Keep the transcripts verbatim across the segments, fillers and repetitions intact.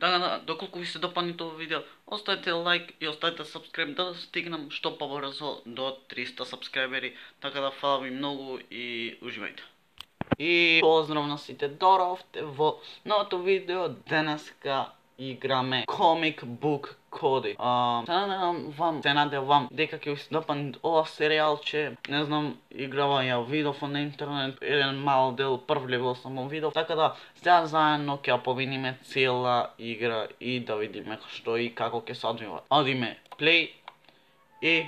Така да, доколку ви се допадне тоа видео, оставете лайк и оставете subscribe да стигнам што побрзо до триста subscriberi. Така да фала ви многу и уживајте. И поздрав на сите, доровте во новото видео. Денеска играме Comic Book Cody. А, се надевам вам, се надевам дека ќе ви се допадне ова серијалче. Не знам, играва ја видов на интернет, еден мал дел, прв левел само видов. Така да, сега заедно ќе ја поминиме цела игра и да видиме што и како ќе се одвива. Одиме play и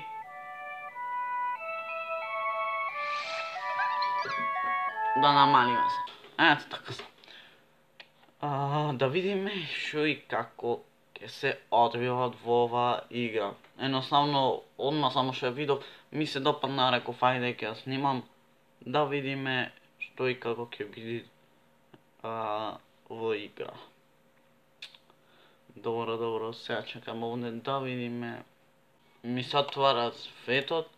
да намалиме се. Ето така се. А, да видиме што и како ќе се одвиват во оваа игра. Едноставно, одма само што ја видов, ми се допадна, реков ајде ќе ја снимам, да видиме што и како ќе биде а, во игра. Добро, добро, сега чекам овде да видиме. Ми се отвара светот,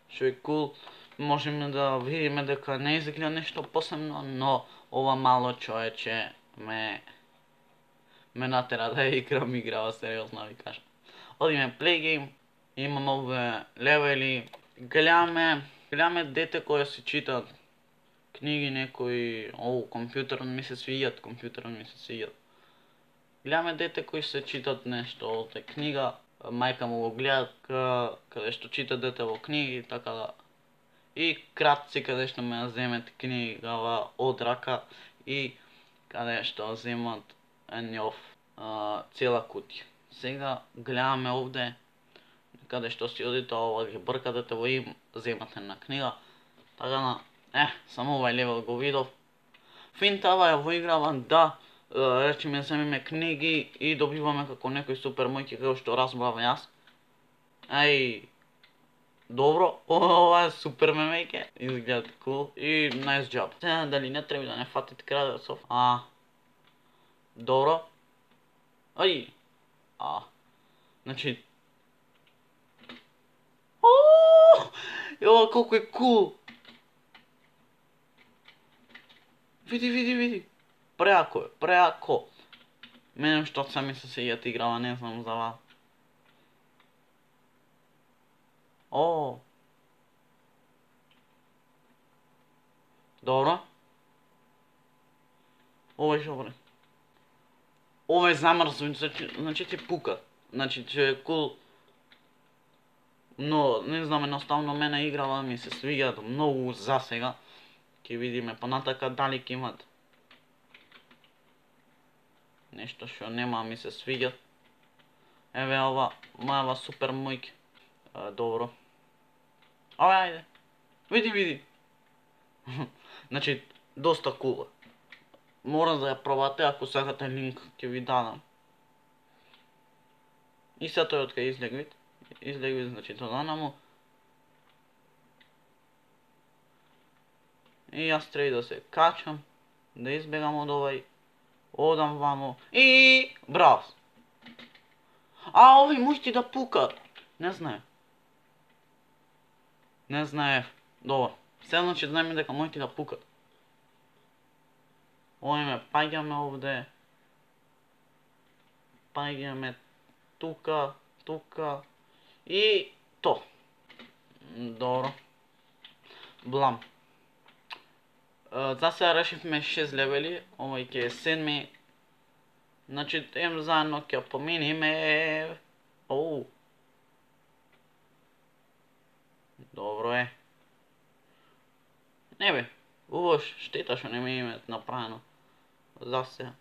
што е кул. Можеме да видиме дека не изгледа нешто посебно, но ова мало човече ме ме натера да играм играва, сериозно ви кажам. Одиме play game, имаме овде левели, гледаме, гледаме дете кои се читат книги некои, оу, компјутерот ми се свијат, компјутерот ми се свијат. Гледаме дете кои се читат нешто од книга, мајка му го гледа каде што чита дете во книги, така да. И кратци каде што ме земат книгава од рака и каде што земат нјов цела кутија. Сега гледаме овде каде што си оди тоа ова ги брка дете во им, земат една книга. Така да, е, само овај левел го видов. Финтава ја во играва да, речеме земеме книги и добиваме како некој супер мојки како што разбрав јас. Ај, добро, ова е супер мемејке, изгледа кул и nice job. Сега дали не треба да не фатите крадецов? А, добро. Ај, а, значи, ооо, ова колку е кул. Види, види, види, преако е, преако. Мене што сами се сејат играва, не знам за вас. О. Добро. Ова е добро. Ова е замрзно, значи ти пука. Значи че е кул. Но не знам, едноставно мене играва ми се свиѓаат многу за сега. Ќе видиме понатака дали ќе имат нешто што нема ми се свиѓа. Еве ова, мајава супер мојки. Добро. Ајде, ајде. Види, види. Значи, доста кула. Мора да ја пробате, ако сакате линк ќе ви дадам. И се тој од кај излег вид. Излег вид, значи тоа му. И јас треба да се качам, да избегам од овај. Одам вамо. И браво. А, овој мушти да пука. Не знае. Не знае. Добро. Се значи знаеме дека мојти да пукат. Овојме, паѓаме овде. Паѓаме тука, тука. И то. Добро. Блам. За сега решивме шест левели, овој ќе е седми. Значи, ем заедно ќе поминиме. Оу. Добро е. Не бе, убаво штета што не ми имат направено. За сега.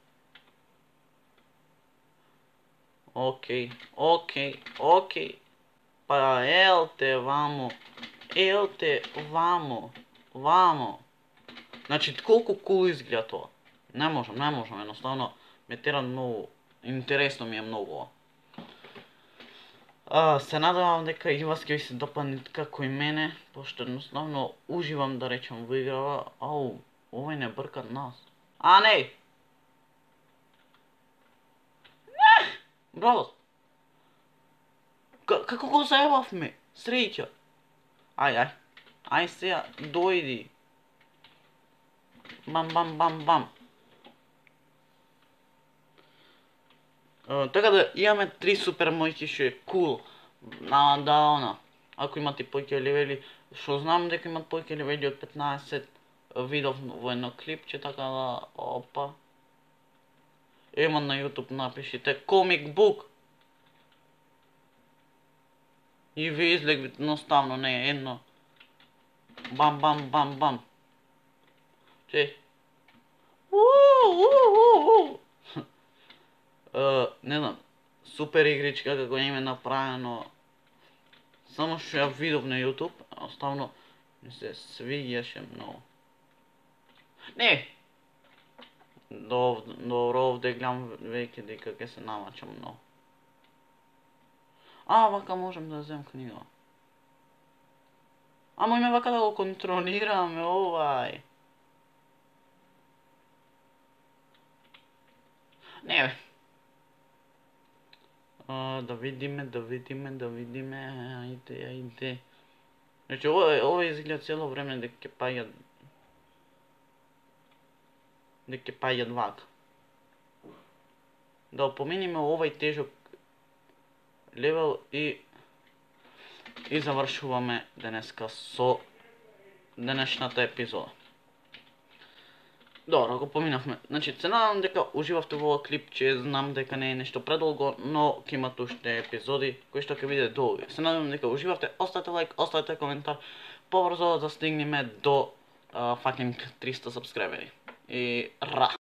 Океј, океј, океј. Па елте вамо. Елте вамо. Вамо. Значи, колку кул изгледа тоа. Не можам, не можам, едноставно ме тера многу. Интересно ми е многу ова. А, се надевам дека и вас ќе ви се допадне како и мене, пошто едноставно уживам да речем во играва. Ау, овој не брка нас. А, не! Не! Браво! Како го заебавме? Среќа! Ај, ај. Ај сега, дојди. Бам, бам, бам, бам. Така да имаме три супер мојки што е кул. На да она. Ако имате поќе левели, што знам дека имат поќе левели од петнаесет, видов во едно клипче, така да опа. Ема на YouTube напишите Comic Book. И ви излег едноставно, не едно. Бам бам бам бам. Че. Не знам, супер игричка како им е направено. Само што ја видов на YouTube, оставно ми се свиѓаше многу. Не! До, добро овде гледам веќе дека ќе се намачам многу. А, вака можем да земам книга. Ама име вака да го контролираме овај. Не бе. А, да видиме, да видиме, да видиме, ајде, ајде. Значи, ова, ова изгледа цело време дека ќе паѓат... дека ќе паѓат вака. Да помениме овај тежок левел и... и завршуваме денеска со денешната епизода. Добро, го поминавме. Значи, се надам дека уживавте во овој клип, че знам дека не е нешто предолго, но ќе имат уште епизоди кои што ќе биде долги. Се надам дека уживавте, оставете лайк, оставете коментар, побрзо да стигнеме до uh, fucking триста сабскрайбери. И ра!